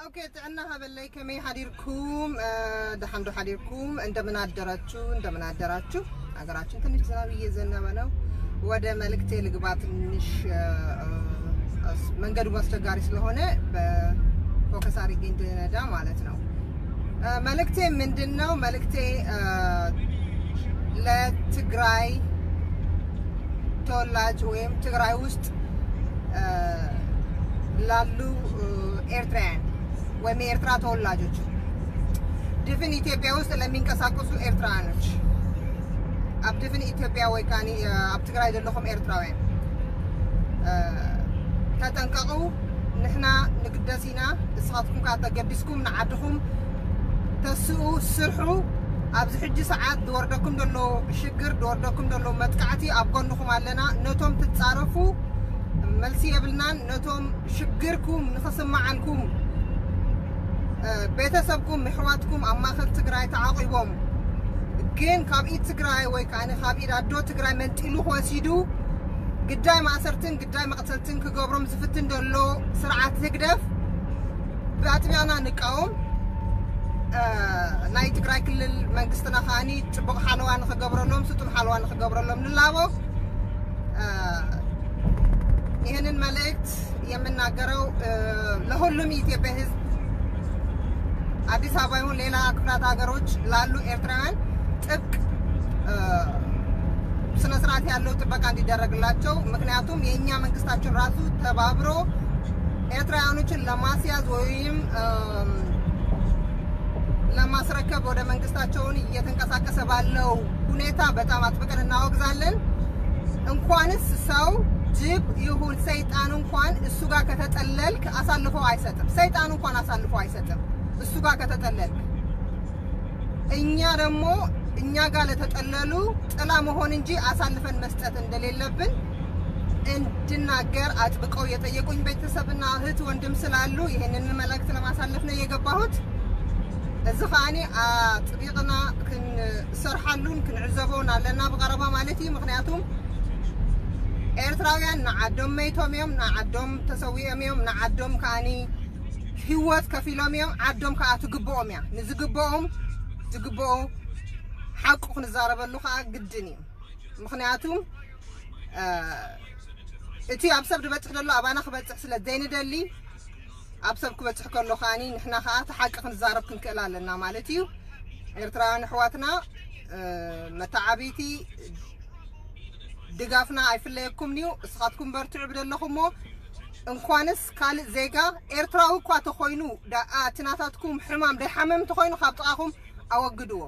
ኦኬ፣ ጥዕና ሃበለይ፣ ከመይ ሓዲርኩም? እ፣ ደሓን ዶ ሓዲርኩም? እንደምን አደራችሁ? እንደምን አደራችሁ? ሀገራችን ትንሽ ዝናብ እየዘነበ ነው። ወደ መልእክቴ ልግባ። ትንሽ፣ እ፣ እ፣ መንገዱ አስቸጋሪ ስለሆነ በፎከስ አድርጌ እንድነዳ ማለት ነው። እ፣ መልእክቴ ምንድን ነው? መልእክቴ፣ እ፣ ለትግራይ ተወላጅ ወይም ትግራይ ውስጥ፣ እ፣ ላሉ፣ እ፣ ኤርትራውያን ወይም የኤርትራ ተወላጆች፣ ድፍን ኢትዮጵያ ውስጥ ለሚንቀሳቀሱ ኤርትራውያኖች፣ ኣብ ድፍን ኢትዮጵያ ወይ ካኒ፣ እ፣ ኣብ ትግራይ ዘለኹም ኤርትራውያን፣ እ፣ ተጠንቀቑ። ንሕና ንግደስ ኢና፣ ንስኻትኩም ከዓ ተገዲስኩም ንዓድኹም ተስኡ፣ ስርሑ። ኣብዚ ሕጂ ሰዓት ዝወርደኩም ዘሎ ሽግር፣ ዝወርደኩም ዘሎ መጥቃዕቲ ኣብ ጎንኹም ኣለና። ነቶም ትጻረፉ መልሲ የብልናን። ነቶም ሽግርኩም ንኽስምዓልኩም፣ እ፣ ቤተሰብኩም፣ ኣሕዋትኩም ኣብ ማእከል ትግራይ ተዓቂቦም፣ ግን ካብ ኢድ ትግራይ ወይ ከዓ ካብ ኢድ ኣዶ ትግራይ መንጢሉ ክወሲዱ፣ ግዳይ ማእሰርትን ግዳይ መቕተልትን ክገብሮም ዝፍትን ዘሎ ስርዓት ህግደፍ ብኣጥቢቕና ንቃወም። እ፣ ናይ ትግራይ ክልል መንግስትና ከዓኒ ጽቡቕ ሓለዋ ንኽገብረሎም፣ ስጡም ሓለዋ ንኽገብረሎም ንላቦ። እ፣ ይህንን መልእክት የምናገረው፣ እ፣ ለሁሉም የኢትዮጵያ ህዝብ፣ አዲስ አበባ ይሁን ሌላ ክፍላት ሀገሮች ላሉ ኤርትራውያን ጥብቅ፣ እ፣ ስነ ስርዓት ያለው ጥበቃ እንዲደረግላቸው። ምክንያቱም የእኛ መንግስታችን ራሱ ተባብሮ ኤርትራውያኖችን ለማስያዝ ወይም፣ እም፣ ለማስረከብ ወደ መንግስታቸውን እየተንቀሳቀሰ ባለው ሁኔታ በጣም አጥብቀን እናወግዛለን። እንኳንስ ሰው፣ ጅብ ይሁን ሰይጣን እንኳን እሱ ጋር ከተጠለልክ አሳልፎ አይሰጥም። ሰይጣን እንኳን አሳልፎ አይሰጥም እሱ ጋር ከተጠለልክ። እኛ ደግሞ እኛ ጋር ለተጠለሉ ጥላ መሆን እንጂ አሳልፈን መስጠት እንደሌለብን እንድናገር አጥብቀው የጠየቁኝ ቤተሰብና እህት ወንድም ስላሉ ይህንን መልእክት ለማሳለፍ ነው የገባሁት። እዚ ከዓኒ አጥቢቕና ክንሰርሓሉን ክንዕዘቦን ኣለና ብቐረባ ማለት እዩ። ምክንያቱም ኤርትራውያን ንዓዶም መይቶም እዮም፣ ንዓዶም ተሰዊኦም እዮም፣ ንዓዶም ከዓኒ ህይወት ከፊሎም እዮም። ዓዶም ከዓ ትግብኦም እያ። ንዝግብኦም ዝግብኦ ሓቁ ክንዛረበሉ ከዓ ግድን እዩ። ምክንያቱም፣ እ፣ እቲ ኣብ ሰብ ዝበፅሕ ዘሎ ኣባና ክበፅሕ ስለ ዘይንደሊ፣ ኣብ ሰብ ክበፅሕ ከሎ ከዓኒ ንሕና ከዓ እቲ ሓቂ ክንዛረብ ክንክእል ኣለና ማለት እዩ። ኤርትራውያን ኣሕዋትና፣ እ፣ መተዓብይቲ ድጋፍና ኣይፍለየኩም እዩ። እስኻትኩም በርትዑ ብደለኹሞ። እንኳንስ ካልእ ዜጋ ኤርትራዊ እኳ ተኾይኑ፣ ደኣ እቲ ናታትኩም ሕማም ደይሓመም ተኾይኑ ካብ ጥቓኹም ኣወግድዎ፣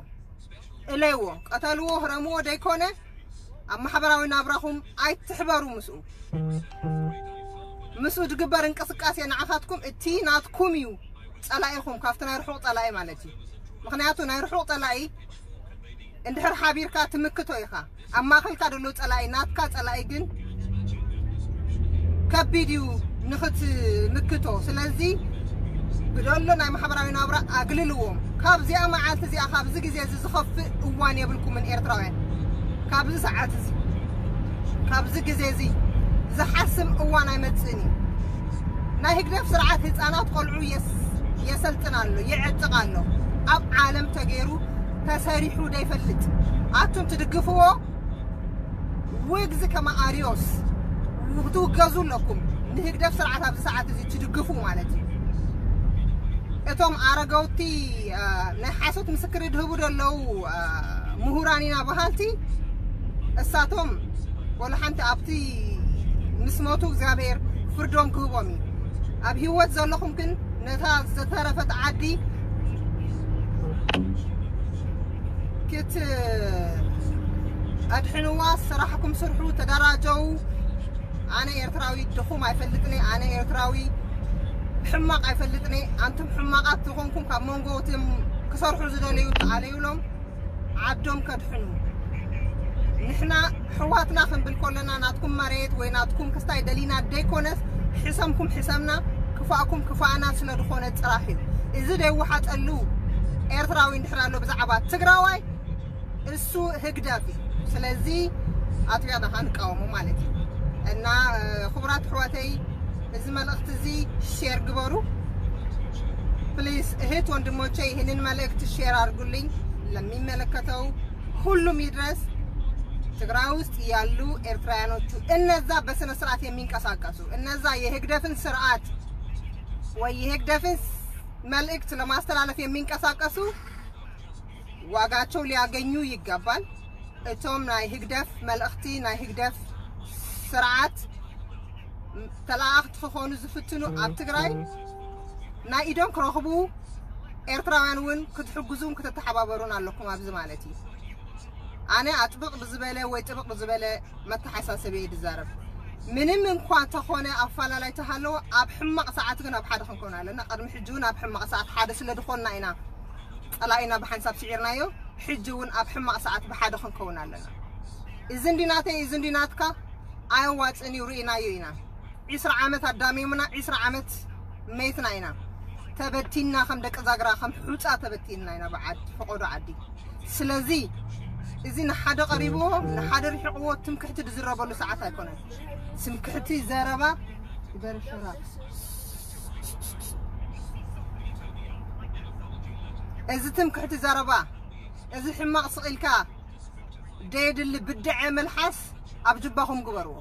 እለይዎ፣ ቀተልዎ፣ ህረምዎ ደይኮነ ኣብ ማሕበራዊ ናብራኹም ኣይትሕበሩ ምስኡ። ምስኡ ዝግበር እንቅስቃሴ ንዓኻትኩም እቲ ናትኩም እዩ፣ ጸላኢኹም ካብቲ ናይ ርሑቕ ጸላኢ ማለት እዩ። ምኽንያቱ ናይ ርሑቕ ጸላኢ እንድሕር ሓቢርካ ትምክቶ ኢኻ። ኣብ ማእኸልካ ዘሎ ጸላኢ ናትካ ጸላኢ ግን ከቢድ እዩ ንኽትምክቶ። ስለዚ ብደሎ ናይ ማሕበራዊ ናብራ ኣግልልዎም። ካብዚኣ መዓልቲ እዚኣ፣ ካብዚ ግዜ እዚ ዝኸፍእ እዋን የብልኩምን ኤርትራውያን። ካብዚ ሰዓት እዚ፣ ካብዚ ግዜ እዚ ዝሓስም እዋን ኣይመጽእን እዩ። ናይ ህግደፍ ስርዓት ህፃናት ቆልዑ የስ-፣ የሰልጥን ኣሎ፣ የዕጥቕ ኣሎ። ኣብ ዓለም ተገይሩ ተሰሪሑ ዘይፈልጥ። ኣቱም ትድግፍዎ ውግዝ ከመ ኣርዮስ ክትውገዙ ኣለኩም። ንህግደፍ ስርዓት ኣብዚ ሰዓት እዚ ትድግፉ ማለት እዩ። እቶም ኣረገውቲ፣ አ፣ ናይ ሓሶት ምስክር ድህቡ ዘለዉ፣ አ፣ ምሁራን ኢና በሃልቲ፣ እሳቶም ወላ ሓንቲ ኣብቲ ምስ ሞቱ እግዚኣብሔር ፍርዶም ክህቦም እዩ። ኣብ ህይወት ዘለኹም ግን ነታ ዝተረፈት ዓዲ ክትኣድሕንዋ ስራሕኩም ስርሑ፣ ተደራጀው። ኣነ ኤርትራዊ ድኹም ኣይፈልጥን እየ። ኣነ ኤርትራዊ ሕማቕ ኣይፈልጥን እየ። ኣንቱም ሕማቓት ዝኾንኩም ካብ መንጎ እቶም ክሰርሑ ዝደለዩ ተኣለዩሎም። ዓዶም ከድሕኑ። ንሕና ሕዋትና ክንብል ከለና ናትኩም መሬት ወይ ናትኩም ክስታይ ደሊና ደይኮነስ፣ ሕሰምኩም ሕሰምና፣ ክፋእኩም ክፋእና ስለ ዝኾነ ጥራሕ እዩ። እዚ ደይወሓጠሉ ኤርትራዊ እንድሕር ኣሎ ብዛዕባ ትግራዋይ፣ እሱ ህግደፍ እዩ። ስለዚ ኣጥቢቕና ክንቃወሞ ማለት እዩ። እና፣ እ፣ ክቡራት ኣሕዋተይ፣ እዚ መልእኽቲ እዚ ሼር ግበሩ። እህት ወንድሞቼ፣ ይህንን መልእክት ሼር አድርጉልኝ፣ ለሚመለከተው ሁሉም ይድረስ። ትግራይ ውስጥ ያሉ ኤርትራውያኖቹ፣ እነዛ በስነ ስርዓት የሚንቀሳቀሱ፣ እነዛ የህግደፍን ስርዓት ወይ የህግደፍን መልእክት ለማስተላለፍ የሚንቀሳቀሱ ዋጋቸው ሊያገኙ ይገባል። እቶም ናይ ህግደፍ መልእኽቲ፣ ናይ ህግደፍ ስርዓት ተላኣኽቲ ክኾኑ ዝፍትኑ ኣብ ትግራይ ናይ ኢዶም ክረኽቡ፣ ኤርትራውያን እውን ክትሕግዙን ክትተሓባበሩን ኣለኩም ኣብዚ ማለት እዩ። ኣነ ኣጥብቕ ብዝበለ ወይ ጥብቕ ብዝበለ መተሓሳሰቢ እየ ዝዛረብ። ምንም እንኳ ተኾነ ኣፋላላይ ተሃለወ፣ ኣብ ሕማቕ ሰዓት ግን ኣብ ሓደ ክንከውን ኣለና። ቅድሚ ሕጂ እውን ኣብ ሕማቕ ሰዓት ሓደ ስለ ዝኾንና ኢና ጸላኢና ብሓንሳብ ስዒርናዮ። ሕጂ እውን ኣብ ሕማቕ ሰዓት ብሓደ ክንከውን ኣለና። እዚ እንዲ ናተይ፣ እዚ እንዲ ናትካ ኣየዋጽእን እዩ፣ ርኢናዮ ኢና። ዒስራ ዓመት ኣዳሚሙና፣ ዒስራ ዓመት መይትና ኢና። ተበቲንና፣ ከም ደቂ ዛግራ፣ ከም ሑጻ ተበቲንና ኢና ብዓዲ፣ ፈቆዶ ዓዲ። ስለዚ እዚ ንሓደ ቀሪብዎ፣ ንሓደ ርሒቕዎ ትምክሕቲ ዝዝረበሉ ሰዓት ኣይኮነን። ትምክሕቲ ዘረባ ይበርሽራ። እዚ ትምክሕቲ ዘረባ፣ እዚ ሕማቕ ስቕ ኢልካ ደየድሊ ብድዐ መልሓስ ኣብ ጅባኹም ግበርዎ።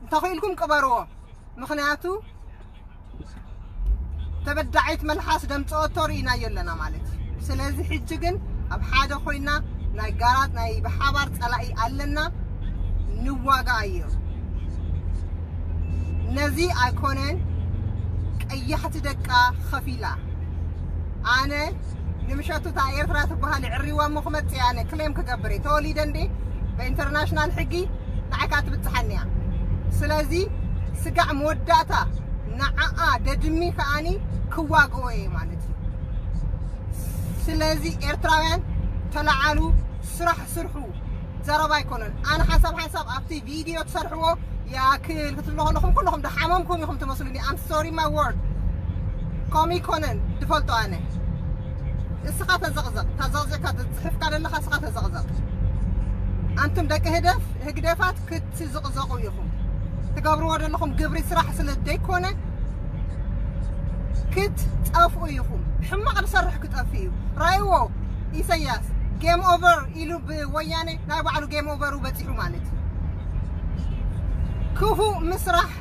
እንተኽኢልኩም ቅበርዎ። ምኽንያቱ ተበዳዒት መልሓስ ደምፅኦቶ ርኢናዮ ኣለና ማለት እዩ። ስለዚ ሕጂ ግን ኣብ ሓደ ኮይና ናይ ጋራ ናይ ብሓባር ፀላኢ ኣለና፣ ንዋጋኣዮ። ነዚ ኣይኮነን ቀያሕቲ ደቃ ኸፊላ። ኣነ ንምሸቱ እታ ኤርትራ ትበሃል የዕሪዋ እሞ ክመጽእ ኣነ ክሌም ክገብር እየ። ተወሊደ እንዴ ብኢንተርናሽናል ሕጊ ንዓይ ከዓ ትብጽሓኒ እያ። ስለዚ ስጋዕ መወዳእታ ንዓኣ ደድሚ ከኣኒ ክዋግኦ እየ ማለት እዩ። ስለዚ ኤርትራውያን ተለዓሉ፣ ስራሕ ስርሑ። ዘረባ ኣይኮነን። ኣነ ሓንሳብ ሓንሳብ ኣብቲ ቪድዮ ትሰርሕዎ ያክል ክትብሎ ከለኹም ኩለኹም ደሓመምኩም ኢኹም ትመስሉኒ። I'm sorry my word። ከምኡ ይኮነን ድፈልጦ ኣነ። እስኻ ተዘቕዘቕ፣ ታዘቕዘቕካ ትጽሕፍካ ዘለኻ እስኻ ተዘቕዘቕ። ኣንቱም ደቂ ህደፍ፣ ህግደፋት ክትዝቕዘቑ ኢኹም። ትገብርዎ ዘለኹም ግብሪ ስራሕ ስለ ዘይኮነ ክትጠፍኡ ኢኹም። ሕማቕ ዝሰርሕ ክጠፍእ እዩ። ራእይዎ ኢሰያስ ጌም ኦቨር ኢሉ ብወያነ ናይ ባዕሉ ጌም ኦቨሩ በጺሑ ማለት እዩ። ክፉእ ምስራሕ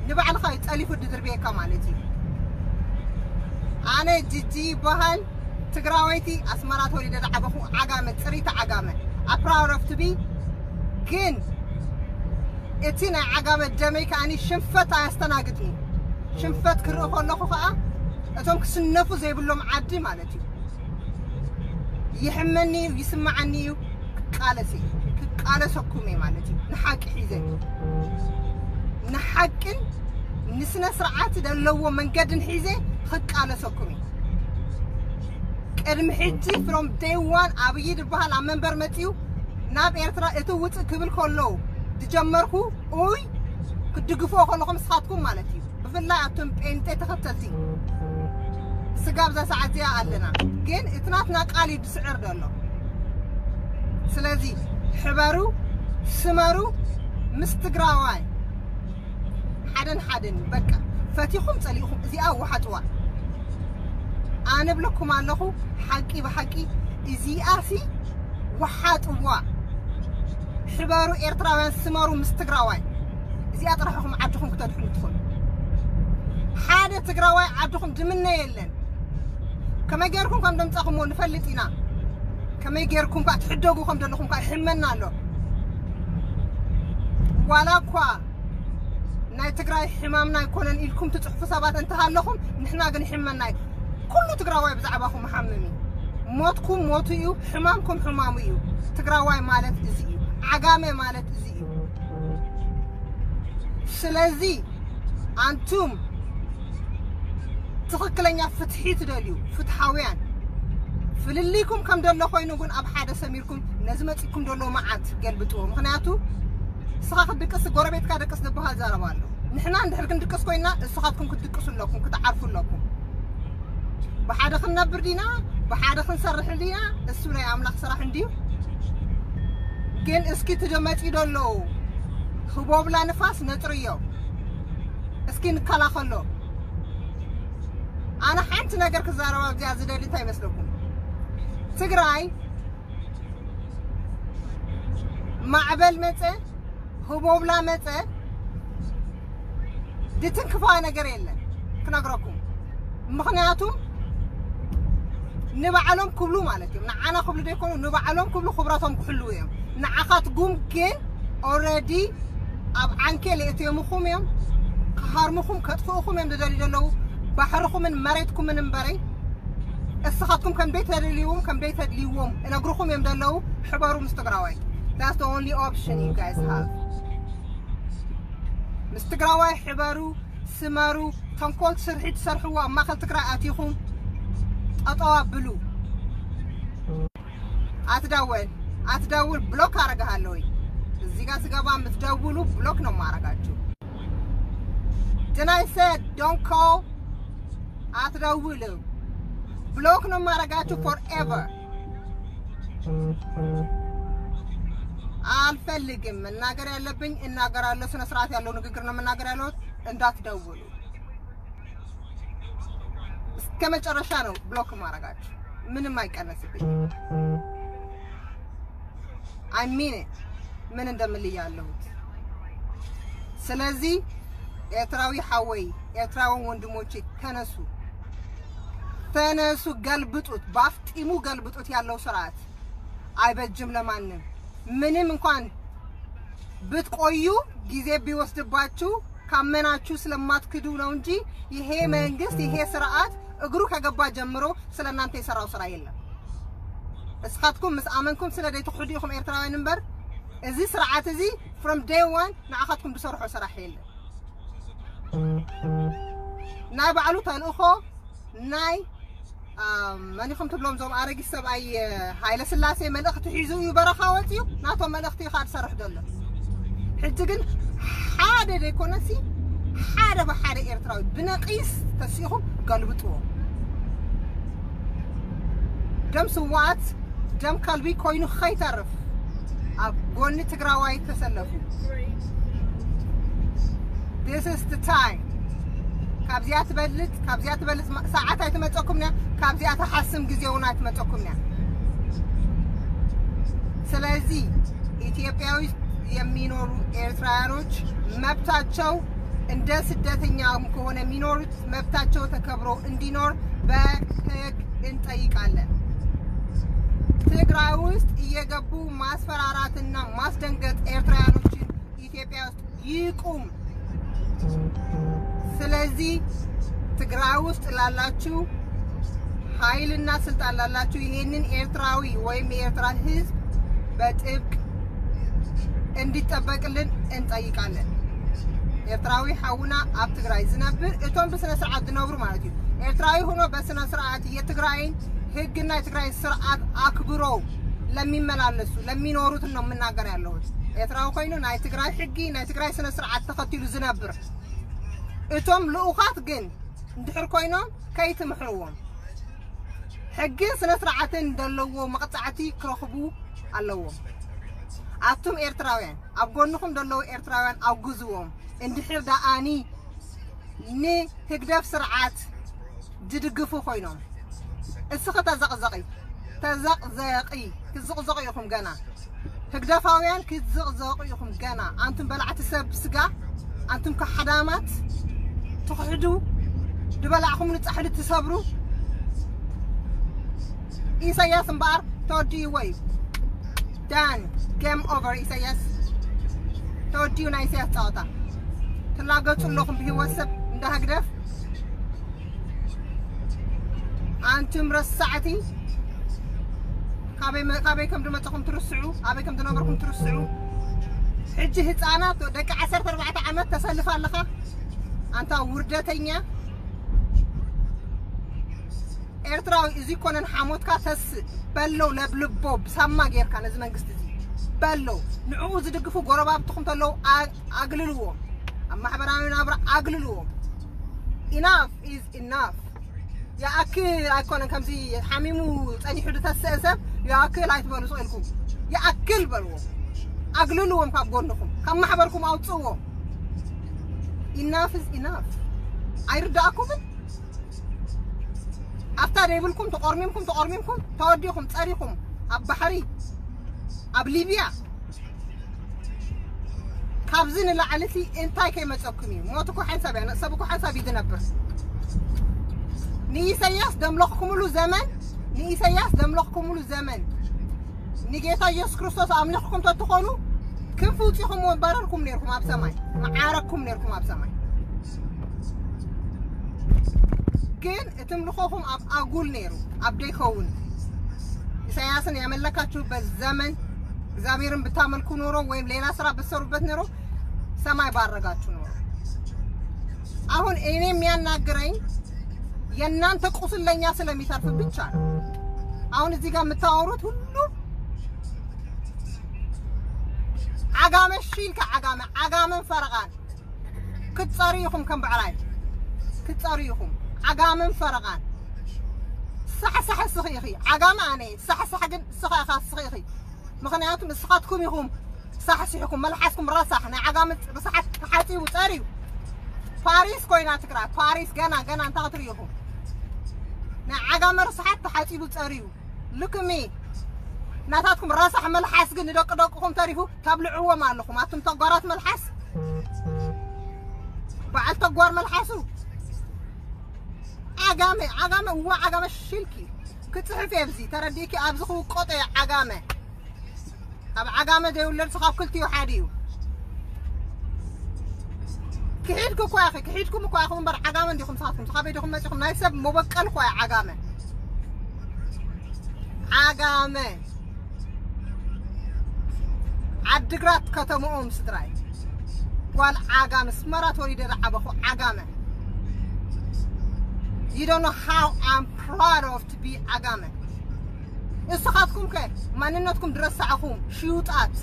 ንባዕልኻ እዩ ጠሊፉ ድድርብየካ ማለት እዩ። ኣነ ጂጂ ይበሃል። ትግራወይቲ ኣስመራ ተወሊደ ዝዓበኹ ዓጋመ፣ ፅሪቲ ዓጋመ። I'm proud of to be። ግን እቲ ናይ ዓጋመ ደመይ ከኣኒ ሽንፈት ኣየስተናግድኒ። ሽንፈት ክርኢ ከለኹ ከዓ እቶም ክስነፉ ዘይብሎም ዓዲ ማለት እዩ። ይሕመኒ እዩ፣ ይስማዓኒ እዩ፣ ክቃለስ እየ፣ ክቃለሰኩም እየ ማለት እዩ። ንሓቂ ሒዘ፣ ንሓቅን ንስነ ስርዓት ዘለዎ መንገድን ሒዘ ክቃለሰኩም እየ። ቅድሚ ሕጂ from day one ኣብይ ዝበሃል ኣብ መንበር መፅዩ ናብ ኤርትራ እቲ ውፅእ ክብል ከሎ ዝጀመርኩ፣ ኡይ፣ ክትድግፍዎ ከለኹም ንስኻትኩም ማለት እዩ። ብፍላይ ኣቱም ጴንጤ ተኸተልቲ ስጋብ እዛ ሰዓት እዚኣ ኣለና። ግን እቲ ናትና ቃል እዩ ዝስዕር ዘሎ። ስለዚ ሕበሩ፣ ስመሩ፣ ምስ ትግራዋይ ሓደን ሓደን በቃ ፈቲኹም ጸሊእኹም እዚኣ ወሓጥዋ። ኣነ ብለኩም ኣለኹ ሓቂ ብሓቂ እዚኣ ሲ ወሓጥዋ። ሕበሩ ኤርትራውያን፣ ስመሩ ምስ ትግራዋይ። እዚኣ ጥራሕ ኢኹም ዓድኹም ክተድሕኑ ትኽእሉ። ሓደ ትግራዋይ ዓድኹም ድምነ የለን። ከመይ ጌርኩም ከም ደምጻኹምዎ ንፈልጥ ኢና። ከመይ ጌርኩም ከኣ ትሕደጉ ከም ዘለኹም ከኣ ይሕመና ኣሎ። ዋላ እኳ ናይ ትግራይ ሕማምና ኣይኮነን ኢልኩም ትጽሕፉ ሰባት እንተሃለኹም፣ ንሕና ግን ይሕመና እዩ። ኩሉ ትግራዋይ ብዛዕባኹም ይሓምም እዩ። ሞትኩም ሞቱ እዩ፣ ሕማምኩም ሕማሙ እዩ። ትግራዋይ ማለት እዚ እዩ። ዓጋመ ማለት እዚ እዩ። ስለዚ ኣንቱም ትኽክለኛ ፍትሒ ትደልዩ፣ ፍትሓውያን፣ ፍልልይኩም ከም ደሎ ኮይኑ ግን ኣብ ሓደ ሰሚርኩም ነዚ መፂኩም ደሎ መዓት ገልብጥዎ። ምኽንያቱ ንስኻ ክትድቅስ ጎረቤትካ ደቅስ ዝበሃል ዘረባ ኣሎ። ንሕና እንድሕር ክንድቅስ ኮይና ንስኻትኩም ክትድቅሱ ኣለኩም፣ ክትዓርፉ ኣለኩም። ብሓደ ክንነብር ዲና፣ ብሓደ ክንሰርሕ ዲና፣ እሱ ናይ ኣምላኽ ስራሕ እንድዩ። ግን እስኪ እቲ መፂኡ ደሎ ህቦብላ ንፋስ ነጥርዮ። እስኪ ንከላኸሎ። ኣነ ሓንቲ ነገር ክዛረባ ኣብዚኣ ዝደሊ እንታይ ይመስለኩም? ትግራይ ማዕበል መጸ፣ ህቦብላ መጸ፣ ድትንክፋ ነገር የለን ክነግረኩም። ምኽንያቱም ንባዕሎም ክብሉ ማለት እዮም፣ ንዓና ክብሉ ዘይኮኑ ንባዕሎም ክብሉ ክብረቶም ክሕልዉ እዮም። ንዓኻትኩም ግን ኦረዲ ኣብ ዓንኬል የእትዮምኹም እዮም፣ ክሃርምኹም ከጥፍኡኹም እዮም ዝደልዩ ዘለዉ። ባሕርኹምን መሬትኩምን እምበረይ እስኻትኩም ከም ደይተደልይዎም ከም ደይተድልይዎም እነግርኹም እዮም ዘለዉ። ሕበሩ ምስ ትግራዋይ። That's the only option you guys have። ምስ ትግራዋይ ሕበሩ፣ ስመሩ። ተንኮል ስርሒ ትሰርሕዎ ኣብ ማእኸል ትግራይ ኣቲኹም ጠጠው ኣብሉ። ኣትደውል ኣትደውል ብሎክ አረግሃለሁ። እዚህ ጋር ስገባ የምትደውሉ ብሎክ ነው ማረጋችሁ። Then I said don't call። አትደውሉ ብሎክ ነው ማረጋችሁ forever። አልፈልግም። መናገር ያለብኝ እናገራለሁ። ስነ ስርዓት ያለው ንግግር ነው መናገር ያለው። እንዳትደውሉ እስከ መጨረሻ ነው ብሎክ ማረጋችሁ። ምንም አይቀነስብኝ። I mean it። ምን እንደምል ያለሁት። ስለዚህ ኤርትራዊ ሐወይ፣ ኤርትራውን ወንድሞቼ ተነሱ፣ ተነሱ፣ ገልብጡት፣ ባፍጢሙ ገልብጡት። ያለው ስርዓት አይበጅም ለማንም። ምንም እንኳን ብትቆዩ ጊዜ ቢወስድባችሁ ካመናችሁ ስለማትክዱ ነው እንጂ ይሄ መንግስት ይሄ ስርዓት እግሩ ከገባ ጀምሮ ስለ እናንተ የሰራው ስራ የለም። እስኻትኩም ምስ ኣመንኩም ስለ ዘይትኽሕዱ ኢኹም ኤርትራውያን እምበር እዚ ስርዓት እዚ from day one ንዓኻትኩም ዝሰርሖ ስራሕ የለን። ናይ ባዕሉ ተልእኾ ናይ መን ኢኹም ትብሎም እዞም ኣረጊት ሰብኣይ ሃይለ ስላሴ መልእኽቲ ሒዙ እዩ በረኻ ወፂኡ ናቶም መልእኽቲ እዩ ካድ ሰርሕ ዘሎ። ሕጂ ግን ሓደ ዘይኮነሲ ሓደ ብሓደ ኤርትራዊ ብነቂስ ተሲኹም ገልብጥዎ። ደም ስዋኣት ደም ከልቢ ኮይኑ ከይተርፍ ኣብ ጎኒ ትግራዋይ ተሰለፉ። This is the time። ካብዚኣ ትበልጥ ካብዚኣ ትበልጥ ሰዓት ኣይትመፀኩም ያ። ካብዚኣ ተሓስም ግዜ እውን ኣይትመፀኩም ያ። ስለዚህ ኢትዮጵያ ውስጥ የሚኖሩ ኤርትራውያኖች መብታቸው እንደ ስደተኛም ከሆነ የሚኖሩት መብታቸው ተከብሮ እንዲኖር በህግ እንጠይቃለን። ትግራይ ውስጥ እየገቡ ማስፈራራትና ማስደንገጥ ኤርትራውያኖችን ኢትዮጵያ ውስጥ ይቁም። ስለዚህ ትግራይ ውስጥ ላላችሁ ኃይልና ስልጣን ላላችሁ ይሄንን ኤርትራዊ ወይም የኤርትራ ህዝብ በጥብቅ እንዲጠበቅልን እንጠይቃለን። ኤርትራዊ ሓውና ኣብ ትግራይ ዝነብር እቶም ብስነ ስርዓት ዝነብሩ ማለት እዩ። ኤርትራዊ ሆኖ በስነ ስርዓት የትግራይን ህግና የትግራይን ስርዓት ኣክብሮ ለሚመላለሱ ለሚኖሩት ነው የምናገር ያለሁት። ኤርትራዊ ኮይኑ ናይ ትግራይ ሕጊ ናይ ትግራይ ስነ ስርዓት ተኸቲሉ ዝነብር። እቶም ልኡኻት ግን እንድሕር ኮይኖም ከይትምሕርዎም ሕግን ስነ ስርዓትን ዘለዎ መቕፃዕቲ ክረኽቡ ኣለዎም። ኣቱም ኤርትራውያን ኣብ ጎንኹም ዘለዉ ኤርትራውያን ኣጉዝዎም። እንድሕር ደኣኒ ንህግደፍ ስርዓት ዝድግፉ ኮይኖም እስኺ ተዘቕዘቒ ተዘቕዘቒ ክትዝቕዘቑ ኢኹም ገና። ህግደፋውያን ክትዝቕዘቑ ኢኹም ገና። ኣንቱም በላዕቲ ሰብ ስጋ ኣንቱም ከሓዳማት ትኽሕዱ ድበላዕኹም ንጻሕሊ ትሰብሩ። ኢሳያስ እምበኣር ተወዲእዎ እዩ። ዳን game over። ኢሳያስ ተወዲኡ ናይ ኢሳያስ ጸወታ። ትላገጹ ኣለኹም ብህይወት ሰብ እንዳ ህግደፍ። ኣንቱም ረሳዕቲ ካበይ መ- ካበይ ከም ዝመጸኹም ትርስዑ ኣበይ ከም ዝነበርኩም ትርስዑ። ሕጂ ህፃናት ደቂ ዓሰርተ ኣርባዕተ ዓመት ተሰልፍ ኣለኻ። ኣንታ ውርደተኛ ኤርትራዊ እዚ ኮነን ሓሞትካ ተስእ በለው ለብልቦ ብሳማ ጌርካ ነዚ መንግስቲ እዚ በለው። ንዕኡ ዝድግፉ ጎረባብትኹም ተለው ኣ- ኣግልልዎም። ኣብ ማሕበራዊ ናብራ ኣግልልዎም። Enough is enough። ይኣክል ኣይኮነን ከምዚ ሓሚሙ ጸኒሑ ዝተስአ ሰብ ይኣክል ኣይትበሉ ስቕ ኢልኩም ይኣክል በልዎም። ኣግልልዎም ካብ ጎንኹም ካብ ማሕበርኩም ኣውፅእዎም። Enough is enough። ኣይርዳእኩምን? ኣፍታ ደይብልኩም ተቆርሚምኩም ተቆርሚምኩም ተወዲኹም ጸሪኹም ኣብ ባሕሪ ኣብ ሊብያ ካብዚ ንላዕሊ እቲ እንታይ ከይመጸኩም እዩ? ሞት እኮ ሓንሳብ እያ፣ ሰብ እኮ ሓንሳብ እዩ ዝነብር። ንኢሰያስ ደምለኽኩምሉ ዘመን፣ ንኢሰያስ ደምለኽኩምሉ ዘመን ንጌታ ኢየሱስ ክርስቶስ ኣምሊኽኩም ተትኾኑ ክንፊ ውጺኹም ወባረርኩም ነይርኩም ኣብ ሰማይ፣ መዓረኩም ነይርኩም ኣብ ሰማይ። ግን እቲ ምልኾኹም ኣብ ኣጉል ነይሩ፣ ኣብ ደይከውን። ኢሳያስን ያመለካችሁበት ዘመን እግዚአብሔርን ብታመልኩ ኖሮ ወይም ሌላ ስራ ብትሰሩበት ኖሮ ሰማይ ባረጋችሁ ኖሮ። አሁን እኔ የሚያናግረኝ የእናንተ ቁስለኛ ስለሚተርፍ ብቻ ነው። አሁን እዚህ ጋር የምታወሩት ሁሉ ዓጋመ ሺልካ ዓጋመ ዓጋመን ፈረቓን ክትጸሩ ኢኹም። ከም ብዕራይ ክትጸሩ ኢኹም። ዓጋመን ፈረቓን ሳሕሳሕ እስኺ ኢኺ። ዓጋመ ኣነ ሳሕሳሕ ግን እስኻ ኢኻ እስኺ ኢኺ። ምኽንያቱም እስኻትኩም ኢኹም ሳሕሲሕኩም፣ መልሓስኩም ረሳሕ፣ ናይ ዓጋመ ርሳሓት ተሓጺቡ ጸርዩ። ፓሪስ ኮይና ትግራይ፣ ፓሪስ ገና ገና እንታይ ክትርኢ ኢኹም? ናይ ዓጋመ ርሳሓት ተሓጺቡ ጸርዩ። ልክሚ ናታትኩም ረሳሕ መልሓስ ግን ንደቂ ደቅኹም ተሪፉ ተብልዕዎም ኣለኹም። ኣቱም ተጓራት መልሓስ፣ በዓል ተጓር መልሓሱ። ዓጋመ፣ ዓጋመ፣ እዋ ዓጋመ ሽልኪ። ክጽሕፍ እየ ኣብዚ፣ ተረዲእኪ? ኣብዚ ክውቀጦ እየ ዓጋመ። ኣብ ዓጋመ ዘይውለድ ስኻብ ክልቲኡ ሓደ እዩ። ክሒድኩ እኳ ኢኺ፣ ክሒድኩም እኳ ኢኹም እምበር ዓጋመ እንዲኹም ስኻትኩም። ስኻበይ ዲኹም መጺኹም? ናይ ሰብ መበቀል እኳ እዩ ዓጋመ። ዓጋመ። ዓድግራት ከተምኦም ስድራይ። ጓል ዓጋመ፣ ኣስመራ ተወሊደ ዝዓበኹ ዓጋመ። You don't know how I'm proud of to be ዓጋመ። እስኻትኩም ከ ማንነትኩም ዝረሳዕኹም ሽዩጣት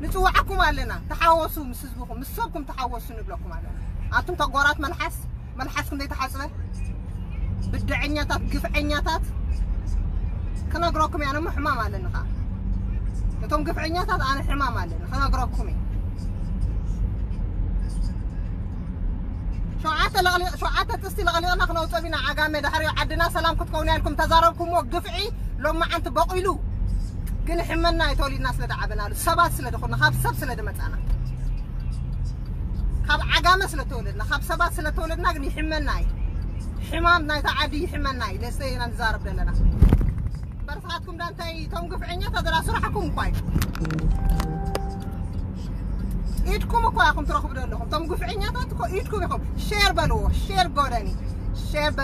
ንጽውዓኩም ኣለና። ተሓወሱ ምስ ህዝብኹም፣ ምስ ሰብኩም ተሓወሱ ንብለኩም ኣለና። ኣቱም ተጓራት መልሓስ፣ መልሓስኩም ዘይተሓጽበ ብድዐኛታት፣ ግፍዐኛታት ክነግረኩም እየ። ኣነ እሞ ሕማም ኣለኒ ኸዓ። እቶም ግፍዐኛታት ኣነ ሕማም ኣለኒ፣ ክነግረኩም እየ። ሸውዓተ ለቕሊቕ-፣ ሸውዓተ ጥስቲ ለቕሊቕና ክነውፅኦም ኢና። ዓጋመ ድሕሪ ዓድና ሰላም ክትከውን እያ ኢልኩም ተዛረብኩምዎ ግፍዒ ሎማዓንቲ በቂሉ። ግን ሕመና እዩ ተወሊድና ስለ ዝዓበናሉ፣ ሰባት ስለ ዝኾንና፣ ካብ ሰብ ስለ ዝመፃና። ካብ ዓጋመ ስለ ተወለድና፣ ካብ ሰባት ስለ ተወለድና ግን ይሕመና እዩ። ሕማም ናይታ ዓዲ ይሕመና እዩ። ለስተይ ኢና ንዛረብ ዘለና። እምበር ንስኻትኩም ዳ እንታይ እቶም ግፍዐኛታት ዳ ስራሕኩም እኳ እዩ። ኢድኩም እኳ ኢኹም ትረኽቡ ዘለኹም። እቶም ግፍዐኛታት እኮ ኢድኩም ኢኹም። ሼር በልዎ፣ ሼር ጎደኒ፣ ሼር በልዎ።